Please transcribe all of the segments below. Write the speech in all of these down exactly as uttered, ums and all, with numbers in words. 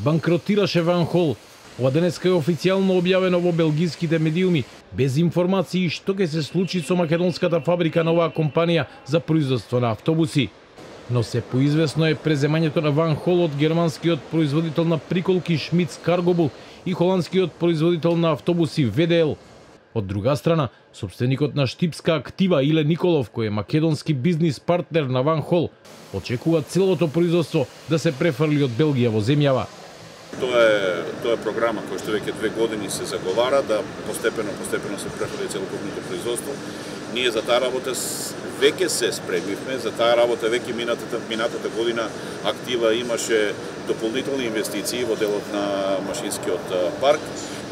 банкротираше Ван Хол. Ова денеска е официјално објавено во белгиските медиуми, без информации што ќе се случи со македонската фабрика на оваа компанија за производство на автобуси. Но се поизвестно е преземањето на Ван Хол од германскиот производител на приколки Шмидс Каргобул и холандскиот производител на автобуси В Д Л. Од друга страна, собственикот на Штипска актива Иле Николов, кој е македонски бизнис партнер на Ван Хол, очекува целото производство да се префрли од Белгија во земјава. Тоа е тоа е програма која што веќе две години се заговара да постепено постепено се префрли целокупното производство. Ние за таа работа веќе се спремивме, за таа работа веќе минатата минатата година актива имаше дополнителни инвестиции во делот на машинскиот парк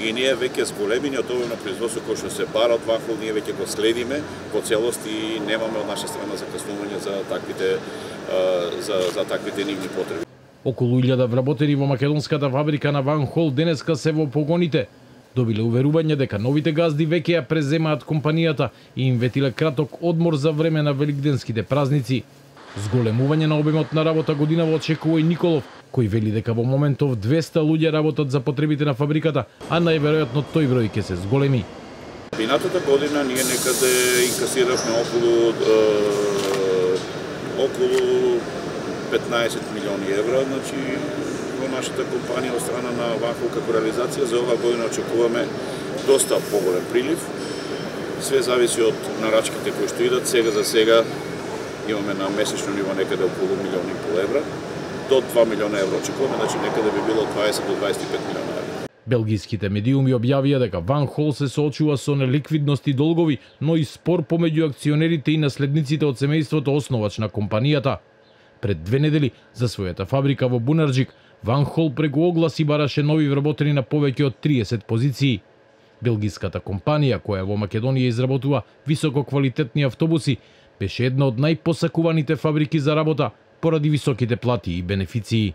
и ние веќе зголемениот обем производство кој што се бара од Ван Хол, ние веќе го следиме во целост и немаме од наша страна закаснување за таквите за за таквите нивни потреби. Околу илјада вработени во македонската фабрика на Ван Хол денеска се во погоните. Добиле уверување дека новите газди веќе ја преземаат компанијата и им ветиле краток одмор за време на великденските празници. Зголемување на обемот на работа годинава очекува и Николов, кој вели дека во моментов двеста луѓе работат за потребите на фабриката, а најверојатно тој број ќе се зголеми. Минатата година ние некаде инкасиравме околу е, околу петнаесет милиони евра, значи во нашата компанија од страна на Ван Хол како реализација. За оваа година очекуваме доста поголем прилив. Све зависи од нарачките кои што идат. Сега за сега имаме на месечно ниво некаде околу милион и пол евра. До два милиона евра очекуваме, значи некаде би било дваесет до дваесет и пет милиона евра. Белгиските медиуми објавија дека Ван Хол се соочува со неликвидност и долгови, но и спор помеѓу акционерите и наследниците од семејството основач на компанијата. Пред две недели за својата фабрика во Бунарџик, Ван Хол преку огласи бараше нови вработени на повеќе од триесет позиции. Белгиската компанија, која во Македонија изработува висококвалитетни автобуси, беше една од најпосакуваните фабрики за работа поради високите плати и бенефиции.